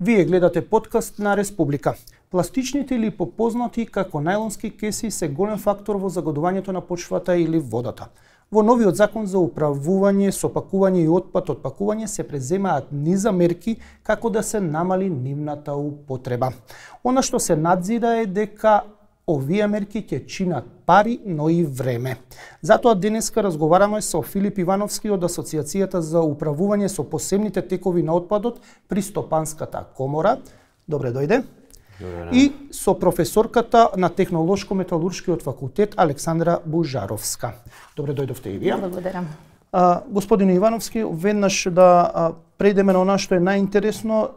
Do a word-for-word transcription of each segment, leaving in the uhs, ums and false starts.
Вие гледате подкаст на Республика. Пластичните или попознати како најлонски кеси се голем фактор во загадувањето на почвата или водата. Во новиот закон за управување, сопакување и отпад од пакување се преземаат низа мерки како да се намали нивната употреба. Она што се надзира е дека овие мерки ќе чинат пари, но и време. Затоа денеска разговараме со Филип Ивановски од Асоциацијата за управување со посебните текови на отпадот при Стопанската комора. Добре дојде. Добре. И со професорката на Технолошко-металуршкиот факултет Александра Бужаровска. Добре дојдовте и вие. Благодарам. А, господин Ивановски, веднаш да а, прејдеме на она што е најинтересно.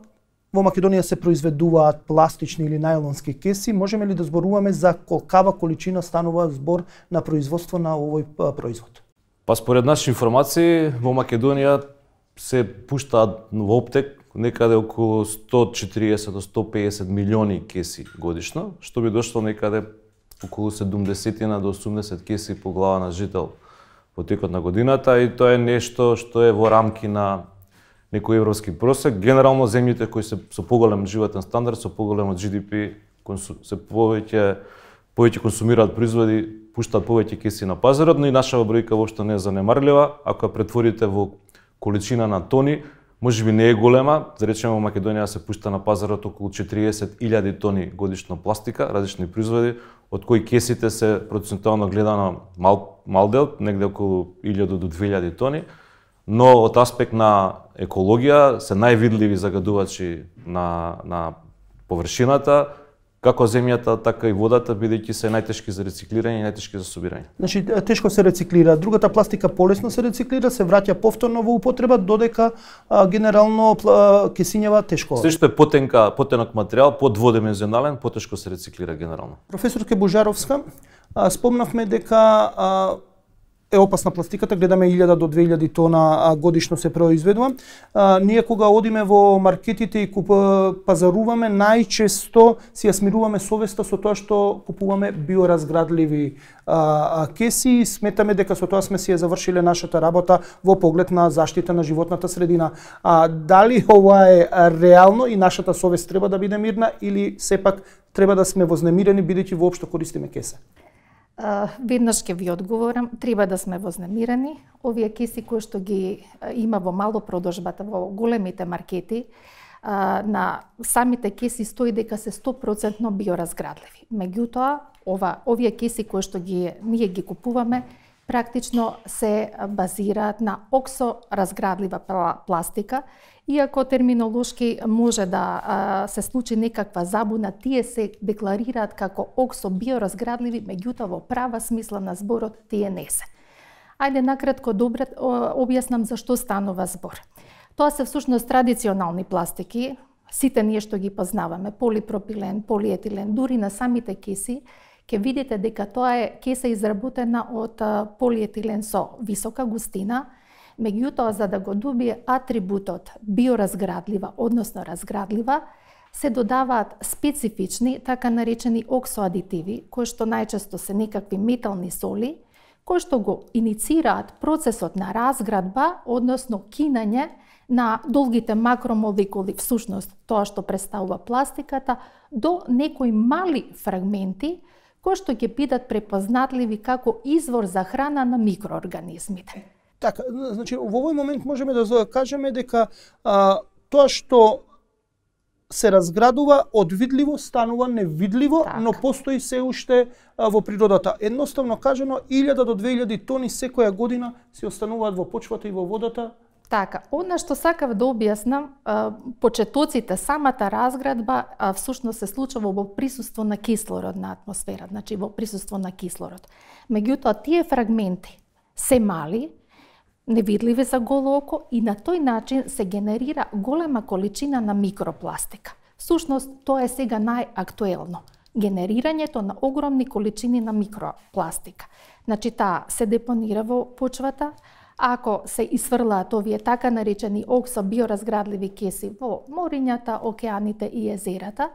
Во Македонија се произведуваат пластични или најлонски кеси. Можеме ли да зборуваме за колкава количина станува збор на производство на овој производ? Па според наши информации во Македонија се пуштаат во оптек некаде околу сто четириесет до сто пеесет милиони кеси годишно, што би дошло некаде околу седумдесет до осумдесет кеси по глава на жител во текот на годината, и тоа е нешто што е во рамки на некој европски просек. Генерално земјите кои се со поголем животен стандард, со поголем Джи Ди Пи, се повеќе повеќе консумираат производи, пуштаат повеќе кеси на пазарот, но и нашава бројка воопшто не е занемарлива. Ако ја претворите во количина на тони, можеби не е голема. За речеме во Македонија се пушта на пазарот околу четириесет илјади тони годишно пластика, различни производи, од кои кесите се процентуално гледано мал, мал дел, негде околу илјада до две илјади тони, но од аспект на екологија се највидливи загадувачи на, на површината, како земјата, така и водата, бидејќи се најтешки за рециклирање и најтешки за собирање. Значи, тешко се рециклира. Другата пластика полесно се рециклира, се враќа повторно во употреба, додека а, генерално а, кесињава тешко. Се што е потенка, потенок материјал, подводимензионален, потешко се рециклира генерално. Професорке Бужаровска, а, спомнавме дека а, е опасна пластиката, гледаме илјада до две илјади тона годишно се произведува. А, ние кога одиме во маркетите и куп, пазаруваме, најчесто си ја смируваме совеста со тоа што купуваме биоразградливи а, а, кеси. Сметаме дека со тоа сме си ја завршиле нашата работа во поглед на заштита на животната средина. А, дали ова е реално и нашата совест треба да биде мирна, или сепак треба да сме вознемирени бидејќи воопшто користиме кесе? Uh, веднаш ќе ви одговорам, треба да сме вознемирани. Овие кеси кои што ги uh, има во мало продажбата во големите маркети, uh, на самите кеси стои дека се сто проценти биоразградливи. Меѓутоа, ова овие кеси кои што ги ние ги купуваме, практично се базираат на оксоразградлива пластика. Иако терминолошки може да а, се случи некаква забуна, тие се декларираат како оксо биоразградливи, меѓутоа во права смисла на зборот тие не се. Ајде накратко добре објаснам за што станува збор. Тоа се всушност традиционални пластики, сите ние што ги познаваме, полипропилен, полиетилен, дури на самите кеси, ќе видите дека тоа е кеса изработена од полиетилен со висока густина. Меѓутоа, за да го добие атрибутот биоразградлива, односно разградлива, се додаваат специфични, така наречени оксоадитиви, кои што најчесто се некакви метални соли, кои што го иницираат процесот на разградба, односно кинање на долгите макромолекули, всушност тоа што представува пластиката, до некои мали фрагменти, кои што ќе бидат препознатливи како извор за храна на микроорганизмите. Така, значи, во овој момент можеме да кажеме дека а, тоа што се разградува од видливо станува невидливо, так, но постои се уште а, во природата. Едноставно кажано, илјада до две илјади тони секоја година се остануваат во почвата и во водата. Така, она што сакав да објаснам, почетоците, самата разградба а, всушност се случува во присуство на кислород на атмосфера, значи во присуство на кислород. Меѓутоа, тие фрагменти се мали, невидливи за голо око, и на тој начин се генерира голема количина на микропластика. Всушност, тоа е сега најактуелно. Генерирањето на огромни количини на микропластика. Значи, таа се депонира во почвата, ако се исфрлаат овие така наречени оксо биоразградливи кеси во морињата, океаните и езерата,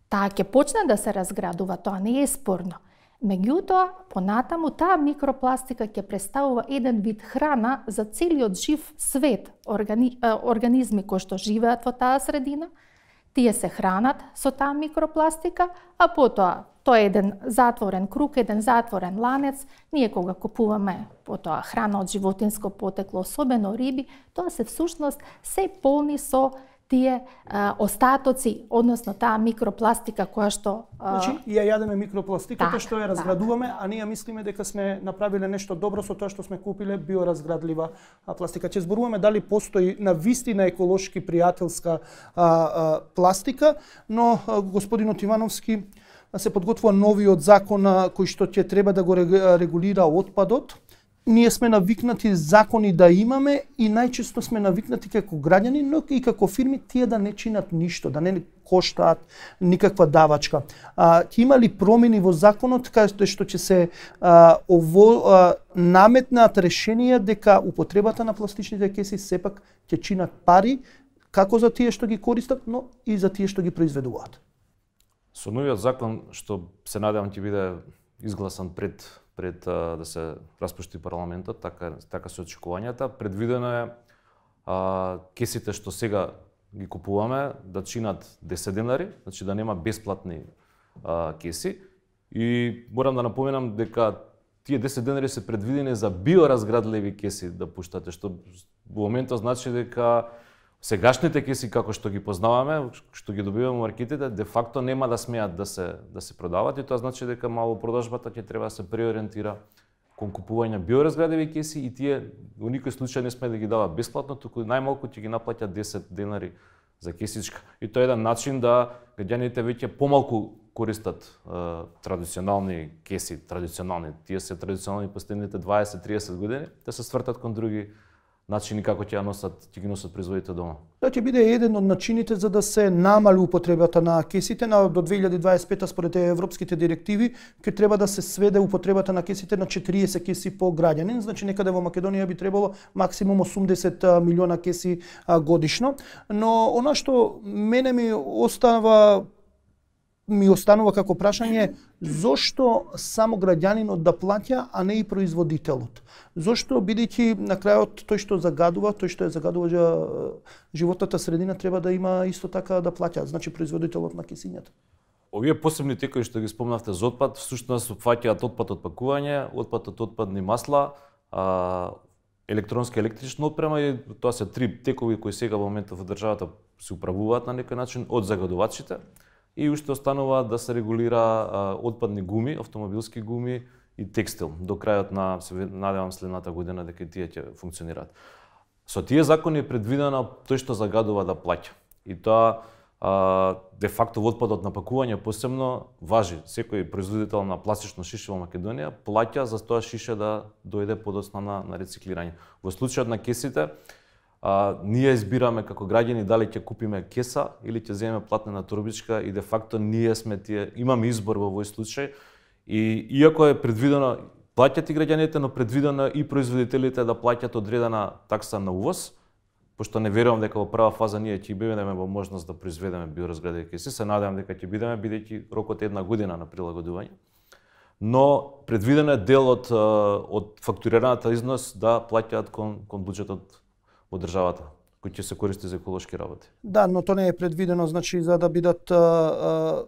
таа ќе почне да се разградува, тоа не е спорно. Меѓутоа, понатаму таа микропластика ќе представува еден вид храна за целиот жив свет, органи, организми кои што живеат во таа средина. тие се хранат со таа микропластика, а потоа тоа е еден затворен круг, еден затворен ланец. Ние кога купуваме потоа храна од животинско потекло, особено риби, тоа се всушност се полни со тие а, остатоци, односно таа микропластика која што... А... Значи, ја јадеме микропластиката, так, што ја разградуваме, так. А ние мислиме дека сме направиле нешто добро со тоа што сме купиле биоразградлива пластика. Ќе зборуваме дали постои на вистина еколошки пријателска а, а, пластика, но а, господинот Ивановски се подготвува новиот закон кој што ќе треба да го регулира отпадот. Ние сме навикнати закони да имаме и најчесто сме навикнати како граѓани, но и како фирми тие да не чинат ништо, да не коштаат никаква давачка. А, ќе има ли промени во законот каде што ќе се а, ово а, наметнат решенија дека употребата на пластичните кеси сепак ќе чинат пари како за тие што ги користат, но и за тие што ги произведуваат? Со новиот закон, што се надевам ќе биде изгласан пред пред а, да се распушти парламентот, така така се очекувањата, предвидено е а, кесите што сега ги купуваме да чинат десет денари, значи да нема бесплатни а, кеси. И морам да напоменам дека тие десет денари се предвидени за биоразградливи кеси да пуштате, што во моментот значи дека сегашните кеси како што ги познаваме, што ги добиваме во маркетите, де факто нема да смеат да се да се продават и тоа значи дека мало продажбата ќе треба да се преориентира кон купување биоразградливи кеси и тие во никој случај не сме да ги дава бесплатно, туку најмалку ќе ги наплаќат десет денари за кесичка. И тоа е еден начин да граѓаните веќе помалку користат е, традиционални кеси, традиционални, тие се традиционални последните дваесет до триесет години, да се свртат кон други начини како ќе ја носат, ќе ги носат производите дома. Тоа ќе биде еден од начините за да се намали употребата на кесите. На до две илјади дваесет и пета според европските директиви ќе треба да се сведе употребата на кесите на четириесет кеси по граѓанин. Значи некаде во Македонија би требало максимум осумдесет милиона кеси годишно. Но она што мене ми остава ми останува како прашање, зошто само граѓанинот да плаќа, а не и производителот? Зошто, бидејќи на крајот тој што загадува, тој што е загадува животната средина треба да има исто така да плаќа, значи производителот на кесињата. Овие посебни текови што ги спомнавте за отпад, всушност опфаќаат отпад од пакување, отпад од отпадни масла, а, електронска електрична опрема и тоа се три текови кои сега во моментот во државата се управуваат на некој начин од загадувачите. И уште останува да се регулира а, отпадни гуми, автомобилски гуми и текстил. До крајот на, се надевам следната година дека тие ќе функционираат. Со тие закони е предвидено тој што загадува да плаќа. И тоа а, де факто отпадот на пакување посебно важи. Секој производител на пластично шише во Македонија плаќа за тоа шише да дојде подоцна на, на рециклирање. Во случајот на кесите, А, ние избираме како граѓани дали ќе купиме кеса или ќе земеме платнена турбичка и де факто ние сме тие, имаме избор во овој случај и иако е предвидено плаќат и граѓаните, но предвидено и производителите да плаќат одредена такса на увоз, пошто не верувам дека во прва фаза ние ќе бидеме во можност да произведеме биоразградливи кеси, се надевам дека ќе бидеме бидејќи рокот е една година на прилагодување. Но предвидено е дел од од фактурираната износ да плаќаат кон кон буџетот во државата, кој ќе се користи за еколошки работи. Да, но тоа не е предвидено, значи за да бидат а, а,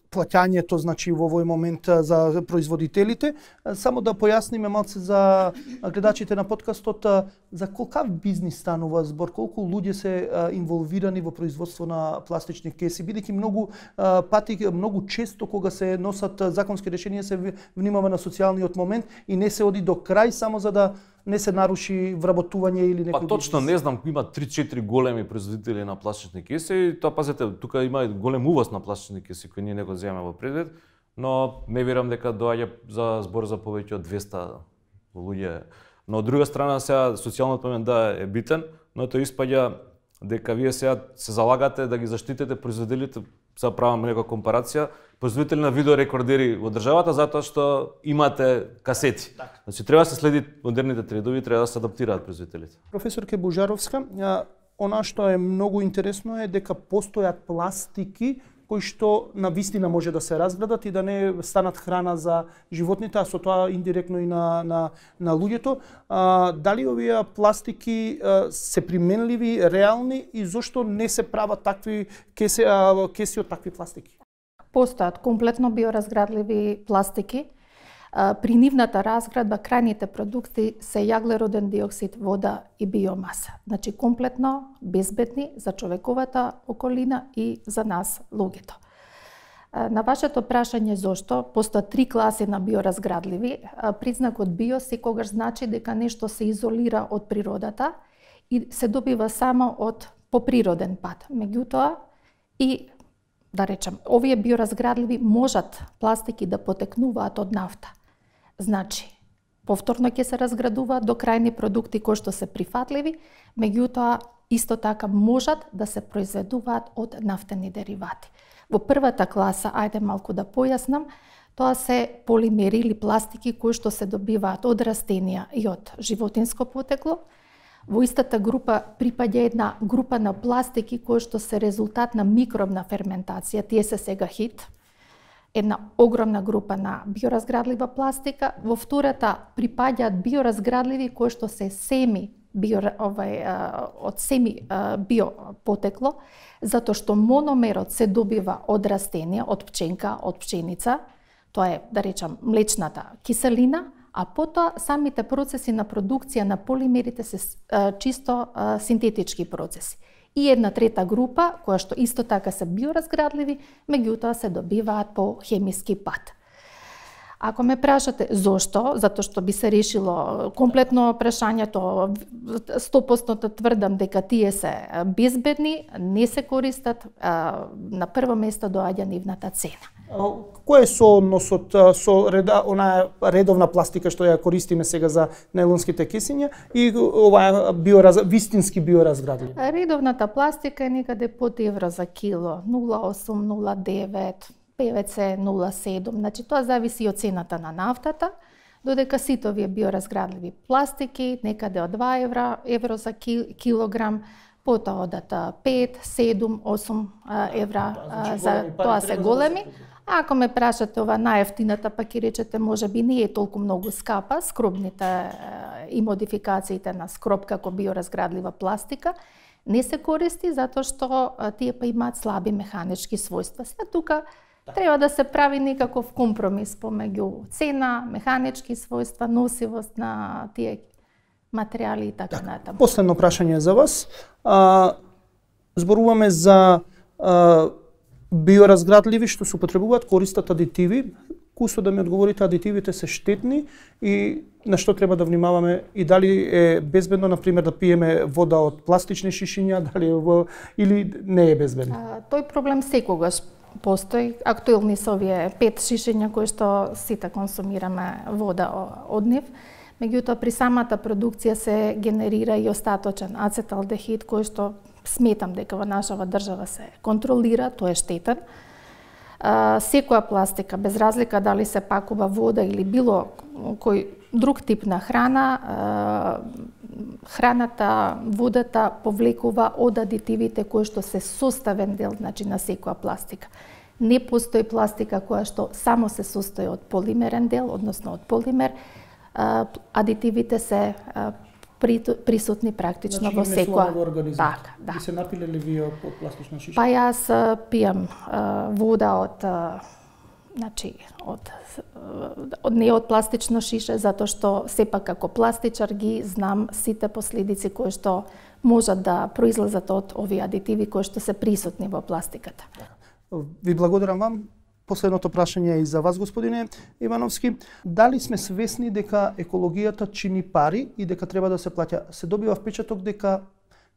плаќањето, значи во овој момент за производителите. Само да појасниме малце за гледачите на подкастот за колкав бизнис станува збор, колку луѓе се а, инволвирани во производство на пластични кеси, бидејќи многу а, пати, многу често кога се носат законски решенија се внимава на социјалниот момент и не се оди до крај само за да не се наруши вработување или некој. Па точно бизнес. Не знам, има три-четири големи производители на пластични кеси и тоа пазете, тука има голем увоз на пластични кеси кои ние не го земеме во предвид, но не верувам дека доаѓа за збор за повеќе од двеста луѓе. Но од друга страна сега социјалниот момент да е битен, но тоа испаѓа дека вие сега се залагате да ги заштитите производителите, сега правам некоја компарација, производители на видеорекордери во државата затоа што имате касети. Так. Значи треба да се следи модерните трендови, треба да се адаптираат производителите. Професорке Божаровска, она што е многу интересно е дека постојат пластики кои што на вистина може да се разградат и да не станат храна за животните, а со тоа индиректно и на на на луѓето. А, дали овие пластики а, се применливи, реални и зошто не се прават такви кеси, а, кеси од такви пластики? Постојат комплетно биоразградливи пластики. При нивната разградба крајните продукти се јаглероден диоксид, вода и биомаса. Значи комплетно безбедни за човековата околина и за нас луѓето. На вашето прашање зошто постојат три класи на биоразградливи, признакот био секогаш значи дека нешто се изолира од природата и се добива само од по природен пат. Меѓутоа и да речем, овие биоразградливи можат пластики да потекнуваат од нафта. Значи, повторно ќе се разградуваат до крајни продукти кои што се прифатливи, меѓутоа исто така можат да се произведуваат од нафтени деривати. Во првата класа, ајде малку да појаснам, тоа се полимери или пластики кои што се добиваат од растенија и од животинско потекло. Во истата група припаѓа една група на пластики кои што се резултат на микробна ферментација, тие се сега хит. Една огромна група на биоразградлива пластика. Во втората припаѓаат биоразградливи кои што се семи био, овај, од семи биопотекло, затоа што мономерот се добива од растенија, од пченка, од пченица, тоа е, да речам, млечната киселина, а потоа самите процеси на продукција на полимерите се чисто синтетички процеси. И една трета група, која што исто така се биоразградливи, меѓутоа се добиваат по хемиски пат. Ако ме прашате зошто, затоа што би се решило комплетно прашањето, сто проценти тврдам дека тие се безбедни, не се користат, на прво место доаѓа нивната цена. Кој е соодносот со реда, онаа редовна пластика што ја користиме сега за најлонските кесиња и оваа биораз, вистински биоразградливи? Редовната пластика е некаде под евро за кило, нула осум, нула девет, пе ве це нула седум. Значи тоа зависи од цената на нафтата, додека сите овие биоразградливи пластики некаде од два евра, евро за килограм, потоа одат пет, седум, осум евра, за тоа се големи. А ако ме прашате ова најефтината, па ќе речете можеби не е толку многу скапа, скробните и модификациите на скроб како биоразградлива пластика, не се користи затоа што тие па имаат слаби механички својства. Сега тука треба да се прави некаков компромис помеѓу цена, механички својства, носивост на тие материјали и така натаму. Последно прашање за вас. А, зборуваме за а, биоразградливи што се употребуваат, користат адитиви. Кусо да ми одговорите, адитивите се штетни и на што треба да внимаваме и дали е безбедно, например, да пиеме вода од пластични шишиња, дали е во... или не е безбедно? А, тој проблем секогаш постои. Актуелни се овие пет шишиња кои што сите консумираме вода од нив. Меѓутоа, при самата продукција се генерира и остаточен ацеталдехид кој што сметам дека во нашава држава се контролира, тој е штетен. А, секоја пластика, без разлика дали се пакува вода или било кој друг тип на храна, а, храната, водата повлекува од адитивите кои што се составен дел, значи, на секоја пластика. Не постои пластика која што само се состои од полимерен дел, односно од полимер. А, адитивите се а, присутни практично, значи, во секоја. Така, да. И се напиле ли вие од пластична шиша? Па јас пијам а, вода од а, значи од од не од пластична шиша, затоа што сепак како пластичар ги знам сите последици кои што можат да произлезат од овие адитиви кои што се присутни во пластиката. Ви благодарам вам. Последното прашање е и за вас, господине Ивановски. Дали сме свесни дека екологијата чини пари и дека треба да се плаќа? Се добива впечаток дека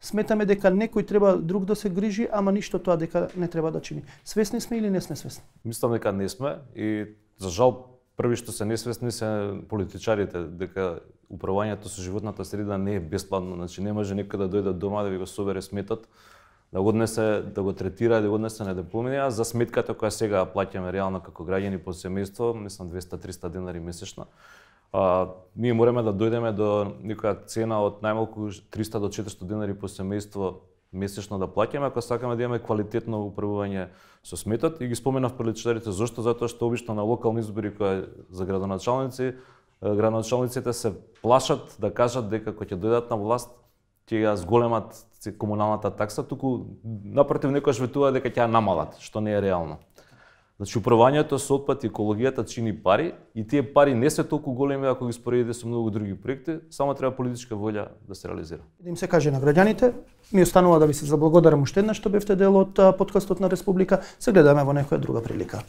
сметаме дека некој треба друг да се грижи, ама ништо тоа дека не треба да чини. Свесни сме или не сме свесни? Мислам дека не сме и за жал први што се несвесни се политичарите, дека управувањето со животната среда не е бесплатно, значи не може некој да дојде дома да ви го собере сметот, да го однесе, да го третира, да го однесе на депонија за сметката која сега плаќаме реално како граѓани по семејство, мислам двеста до триста денари месечно. А, ние мораме да дојдеме до некоја цена од најмалку триста до четиристотини денари по семејство месечно да плаќаме ако сакаме да имаме квалитетно управување со сметот. И ги споменав приличарите зошто, затоа што обично на локални избори кои за градоначалници, градоначалниците се плашат да кажат дека кога ќе дојдат на власт ќе ја зголемат комуналната такса, туку напротив некојаш ветуваат дека ќе ја намалат, што не е реално. Значи управувањето со отпад и екологијата чини пари и тие пари не се толку големи ако ги споредите со многу други проекти, само треба политичка волја да се реализира. Да им се каже на граѓаните, ми останува да ви се заблагодарам уште еднаш што бевте дел од подкастот на Република. Се гледаме во некоја друга прилика.